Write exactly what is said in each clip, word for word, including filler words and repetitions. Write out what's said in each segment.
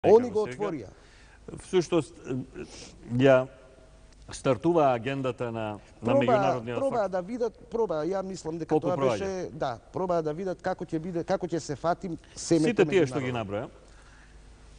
Они го отворија. Всушност, ја стартува агендата на, на меѓународниот Пробаа факт. да видат, пробаа, ја мислам дека Колку тоа проаѓа? беше, да, пробаа да видат како ќе биде, како ќе се фатим семето Сите тие што меѓународно. ги наброја,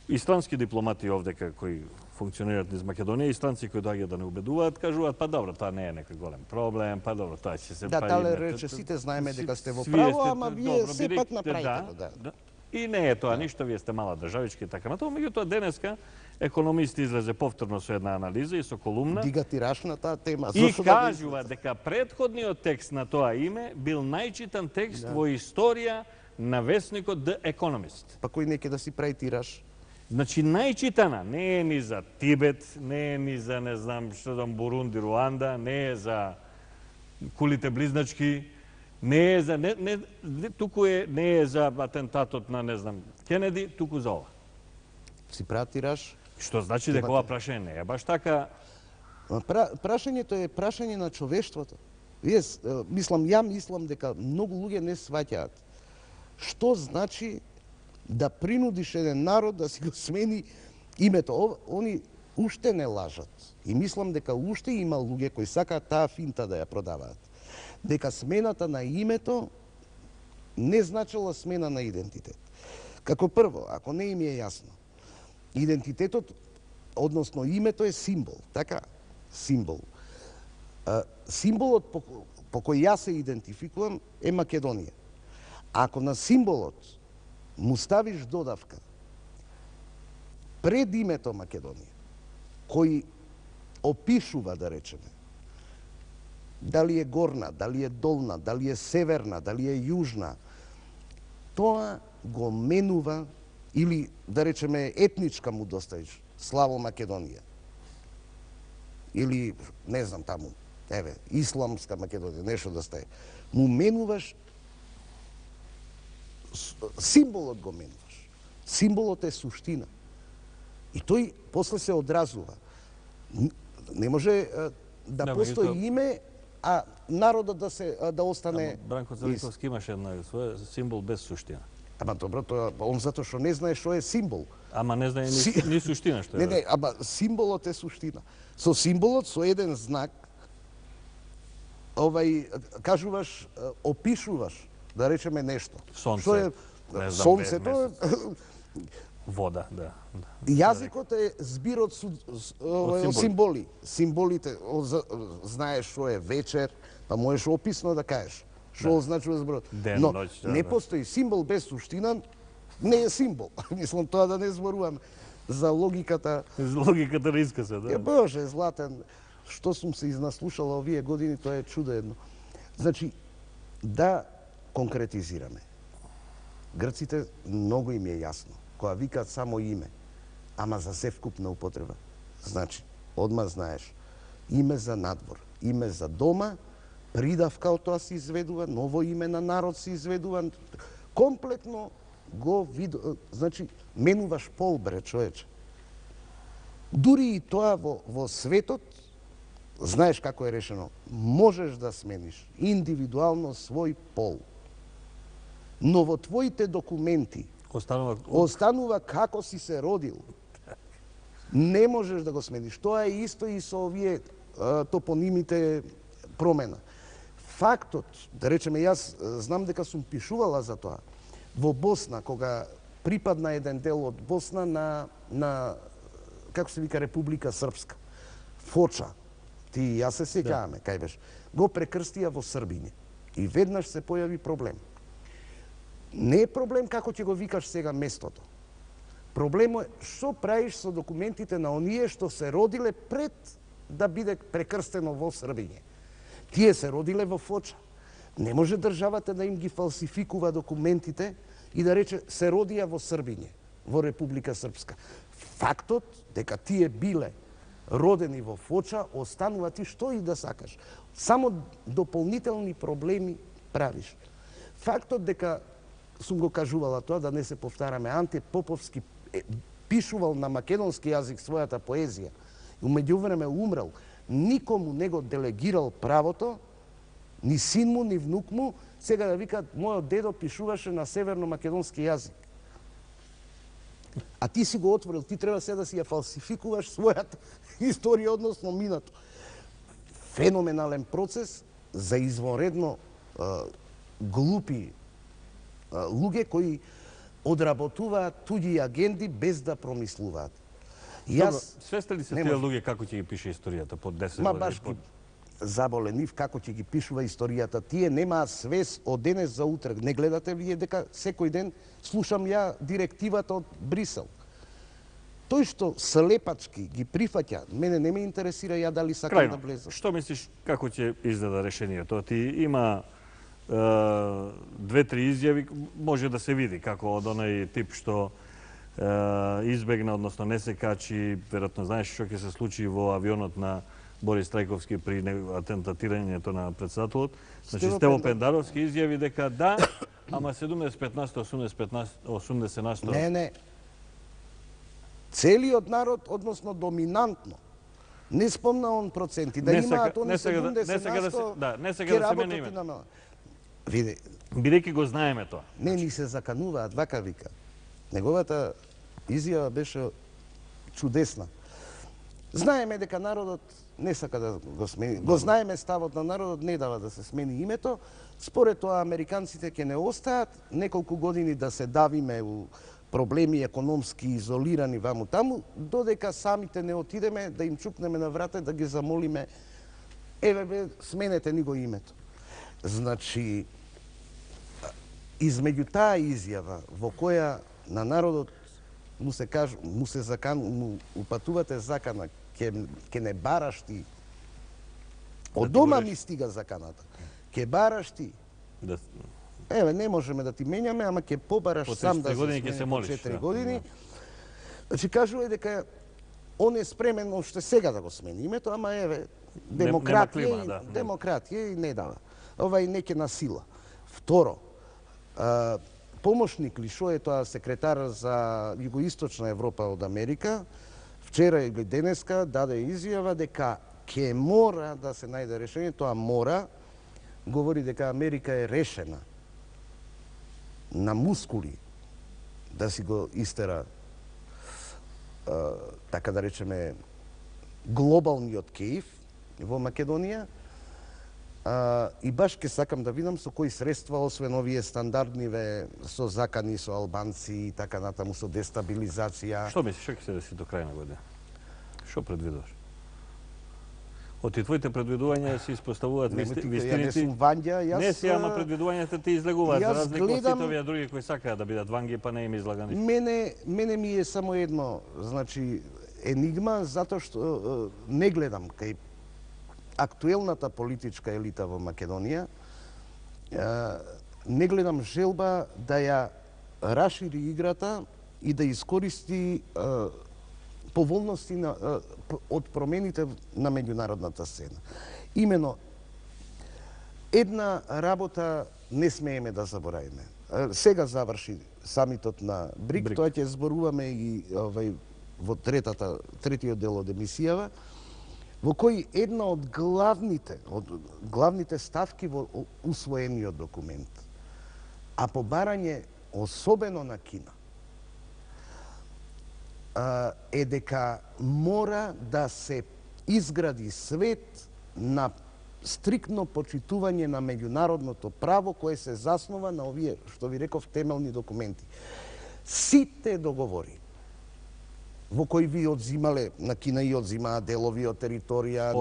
и странски дипломати овдека кои функционираат низ Македонија, и странци кои доаѓаат да не убедуваат, кажуваат, па добро, тоа не е некој голем проблем, па добро, тоа ќе се Да, па тале име, рече, сите знаеме дека сте во Вие право, сте- ама вие добро, сепак бидејќи- направите го, да. да. И не е тоа ништо, вие сте мала државичка и така натаму. Меѓутоа денеска економисти излезе повторно со една анализа и со колумна Дига тираж на таа тема. и Зошто да не кажува дека предходниот текст на тоа име бил најчитан текст во историја на весникот The Economist. Па кој не ќе да си прави тираж? Значи, најчитана, не е ни за Тибет, не е ни за, не знам, што дам, Бурунди, Руанда, не е за кулите близначки, не е за, не, не, не, туку е, не е за атентатот на, не знам, Кенеди, туку за ова. Си прави тираж? Што значи дека ова прашање не е баш така. Ма Пра, прашањето е прашање на човештвото. Вие, с- е, мислам, ја мислам дека многу луѓе не сваќаат што значи да принудиш еден народ да си го смени името. Ов- Они уште не лажат. И мислам дека уште има луѓе кои сакаат таа финта да ја продаваат. Дека смената на името не значила смена на идентитет. Како прво, ако не им е јасно, идентитетот, односно името е символ, така? Символ. А, символот по, по кој јас се идентификувам е Македонија. Ако на символот му ставиш додавка пред името Македонија, кој опишува, да речеме, дали е горна, дали е долна, дали е северна, дали е јужна, тоа го менува, или да речеме етничка му доставиш, Славо Македонија. Или, не знам таму, еве, Исламска Македонија, нешто да стае. Му менуваш, с- символот го менуваш. Символот е суштина. И тој после се одразува. Н- Не може е, да Да, постои меѓутоа- име, а народот да се а, да остане. Ама Бранко Целиковски имаше една своја символ без суштина. Ама добро, тоа он затоа што не знае што е символ. Ама не знае ни, Си- ни суштина што е. Не, не, ама символот е суштина. Со символот, со еден знак, овај, кажуваш, е, опишуваш, да речеме нешто. Сонце, Што е не знам, сонцето, Вода, да. да. јазикот е збир од, су- с- овај, од символи. символи. Символите, од за- знаеш што е вечер, па можеш описно да кажеш. Што означува зборот. Ден, Но ноќ, да, не да. постои символ без суштина, не е символ. Мислам тоа да не зборувам за логиката. Логиката на искасе, Е, да. Боже, Златен, што сум се изнаслушала овие години, тоа е чудено. Значи, да конкретизираме. Грците многу им е јасно, кога викаат само име, ама за севкупна употреба. Значи, одма знаеш, име за надвор, име за дома, придавка од тоа се изведува, ново име на народ се изведува, комплетно го вид... значи, менуваш пол, бре, човече. Дури и тоа во, во светот, знаеш како е решено, можеш да смениш индивидуално свој пол. Но во твоите документи Останува останува како си се родил. Не можеш да го смениш. Тоа е исто и со овие а, топонимите промена. Фактот, да речеме, јас а, знам дека сум пишувала за тоа. Во Босна, кога припадна еден дел од Босна на, на како се вика, Република Српска, Фоча, ти и јас се сеќаваме, кај беше, го прекрстија во Србиње. И веднаш се појави проблем. Не е проблем како ќе го викаш сега местото. Проблемот е што правиш со документите на оние што се родиле пред да биде прекрстено во Србиње. Тие се родиле во Фоча. Не може државата да им ги фалсификува документите и да рече се родија во Србиње, во Република Српска. Фактот дека тие биле родени во Фоча останува, ти што и да сакаш. Само дополнителни проблеми правиш. Фактот дека сум го кажувала тоа, да не се повтараме, Анте Поповски е, пишувал на македонски јазик својата поезија и умеѓувреме умрел, никому не го делегирал правото, ни син му, ни внук му, сега да викаат, мојот дедо пишуваше на северно-македонски јазик. А ти си го отворил, ти треба сега да си ја фалсификуваш својата историја, односно минато. Феноменален процес за извонредно а, глупи а, луѓе кои одработуваат туѓи агенди без да промислуваат. Јас свесте ли се тие луѓе како ќе ги пише историјата под десет Ма години? баш ги заболе нив како ќе ги пишува историјата. Тие немаат свес од денес за утре. Не гледате вие дека секој ден слушам ја директивата од Брисел. Тој што слепачки ги прифаќа, мене не ме интересира ја дали сакам Крајно, да влезам. што мислиш како ќе изгледа решението? Ти има е, две-три изјави, може да се види како од онај тип што е, избегна, односно не се качи, веројатно знаеш што ќе се случи во авионот на Борис Трајковски при атентатирањето на председателот. Значи Стево Стево Пендар- Пендаровски изјави дека да, ама седумдесет и пет, осумдесет на сто. Не, не. Целиот народ, односно доминантно, не спомна он проценти, да Не имаат сака- они не сака да- не седумдесет сака да се- на сто, да, не сака ќе да се мене работат и името. на... Види, Бидејќи го знаеме тоа. не ни се закануваат, вака вика. Неговата изјава беше чудесна. Знаеме дека народот не сака да го смени. Го знаеме ставот на народот, не дава да се смени името. Според тоа американците ќе не остаат неколку години да се давиме у проблеми економски изолирани ваму таму, додека самите не отидеме да им чукнеме на врата да ги замолиме еве бе, сменете ни го името. Значи, измеѓу таа изјава во која на народот му се кажа, му се закан, му упатувате закана, ќе ќе не бараш ти. Од дома ми стига заканата. Ќе бараш ти. Да, Еве, не можеме да ти менјаме, ама ќе побараш По сам да тридесет години ќе смени се по молиш, четири да. години. Значи, кажува дека он е спремен уште сега да го смени името, ама еве, демократија, клима, и, да, не. демократија и не дава. Ова и неќе на сила. Второ, а, помошник ли, шо е тоа секретар за Југоисточна Европа од Америка, вчера или денеска даде изјава дека ќе мора да се најде решение, тоа мора, говори дека Америка е решена на мускули да си го истера, а, така да речеме, глобалниот кејф во Македонија. А, и баш ке сакам да видам со кои средства, освен овие стандардниве со закани со албанци и така натаму, со дестабилизација. Што мислиш, што ќе се деси до крај на година? Што предвидуваш? Од ти твоите предвидувања се испоставуваат Не, висти- ти, ја не вистиници. сум Вања, јас... Не си, ама предвидувањата ти излегуваат, за јас разлика од гледам- сите овие други кои сакаат да бидат ванги, па не им излагани. Мене, мене ми е само едно, значи, енигма, затоа што е, не гледам кај актуелната политичка елита во Македонија, е, не гледам желба да ја расшири играта и да искористи е, поволности на, е, п- од промените на меѓународната сцена. Имено, една работа не смееме да заборавиме. Е, Сега заврши самитот на БРИК, БРИК. тоа ќе зборуваме и овај, во третата, третиот дел од емисијава, во кој една од главните, од главните ставки во о- усвоениот документ, а по барање особено на Кина, а, е дека мора да се изгради свет на стриктно почитување на меѓународното право кое се заснова на овие, што ви реков, темелни документи. Сите договори во кои ви одзимале, на Кина и одзимаа делови од територија,